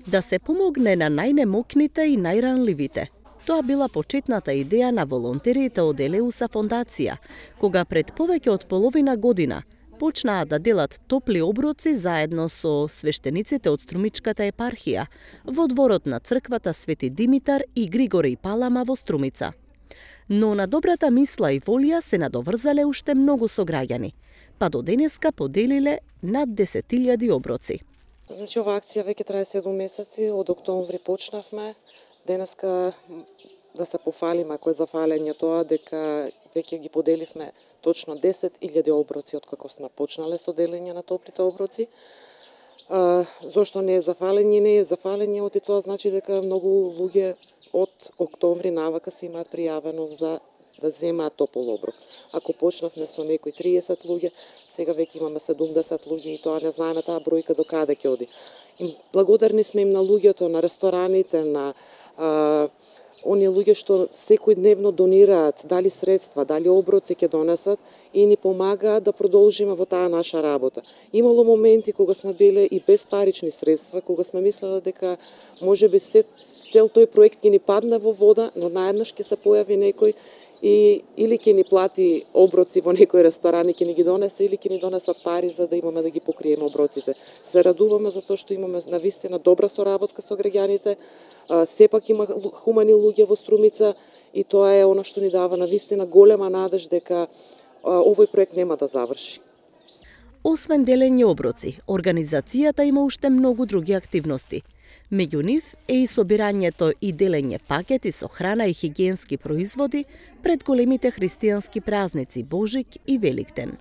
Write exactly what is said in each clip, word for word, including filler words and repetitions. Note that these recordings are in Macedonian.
Да се помогне на најнемокните и најранливите. Тоа била почетната идеја на волонтерите од Елеуса фондација, кога пред повеќе од половина година почнаа да делат топли оброци заедно со свештениците од Струмичката епархија во дворот на црквата Свети Димитар и Григорий Палама во Струмица. Но на добрата мисла и волја се надоврзале уште многу сограѓани, па до денеска поделиле над десет илјади оброци. Значи, ова акција веќе трае седум месеци, од октомври почнавме. Денеска да се пофалиме, ако е за фалење тоа, дека веќе ги поделивме точно десет илјади оброци од како сме почнале со делење на топлите оброци. А, зошто не е за фалење? Не е за фалење, оти тоа значи дека многу луѓе од октомври навака се имаат пријавено за да земаат топол оброк. Ако почнавме со некои триесет луѓе, сега веќе имаме седумдесет луѓе и тоа не знаеме таа бројка до каде ќе оди. И благодарни сме им на луѓето, на рестораните, на а, оние луѓе што секојдневно донираат, дали средства, дали оброци ќе донесат и ни помагаат да продолжиме во таа наша работа. Имало моменти кога сме биле и без парични средства, кога сме мислеле дека можеби се, цел тој проект ќе ни падне во вода, но наеднаш ќе се појави некој и или ќе ни плати оброци во некој ресторан и ќе ни ги донесе, или ќе ни донесат пари за да имаме да ги покриеме оброците. Се радуваме за тоа што имаме навистина добра соработка со граѓаните. Сепак има хумани луѓе во Струмица и тоа е она што ни дава навистина голема надеж дека овој проект нема да заврши. Освен делење оброци, организацијата има уште многу други активности. Меѓу нив е и собирањето и делење пакети со храна и хигиенски производи пред големите христијански празници Божик и Великден.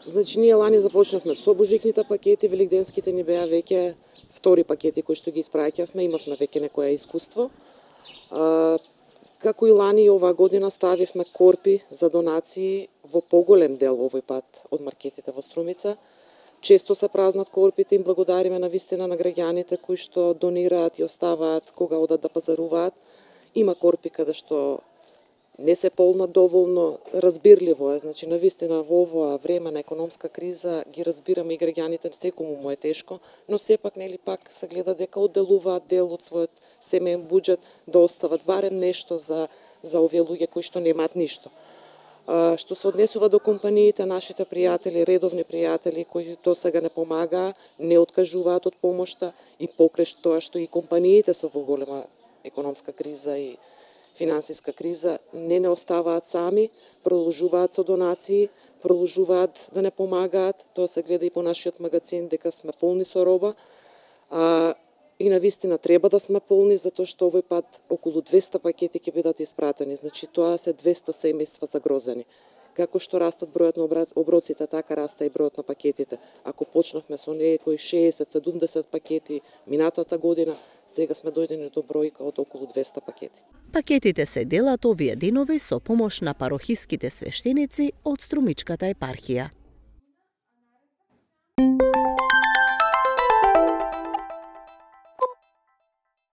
Значи, ние лани започнавме со божикните пакети, великденските ни беа веќе втори пакети кои што ги испраќавме, имавме веќе некое искуство. А, како и лани и оваа година ставивме корпи за донации во поголем дел овој пат од маркетите во Струмица. Често се празнат корпите, им благодариме на вистина на граѓаните кои што донираат и оставаат кога одат да пазаруваат. Има корпи каде што не се полнат доволно, разбирливо е, значи на вистина во овоа време на економска криза ги разбираме и граѓаните, секому му е тешко, но сепак нели пак се гледа дека одделуваат дел од својот семеен буџет да остават барем нешто за за овие луѓе кои што немаат ништо. А, што се однесува до компаниите, нашите пријатели, редовни пријатели кои до сега не помагаа, не откажуваат од помошта и покрај тоа што и компаниите се во голема економска криза и финансиска криза, не не оставаат сами, продолжуваат со донации, продолжуваат да не помагаат. Тоа се гледа и по нашиот магазин дека сме полни со роба. А, и навистина треба да сме полни затоа што овој пат околу двесте пакети ќе бидат испратени. Значи тоа се двесте семејства загрозени. Како што растат бројот на оброците, така расте и бројот на пакетите. Ако почнавме со некои шеесет седумдесет пакети минатата година, сега сме дојдени до бројка од околу двесте пакети. Пакетите се делат овие денови со помош на парохиските свештеници од Струмичката епархија.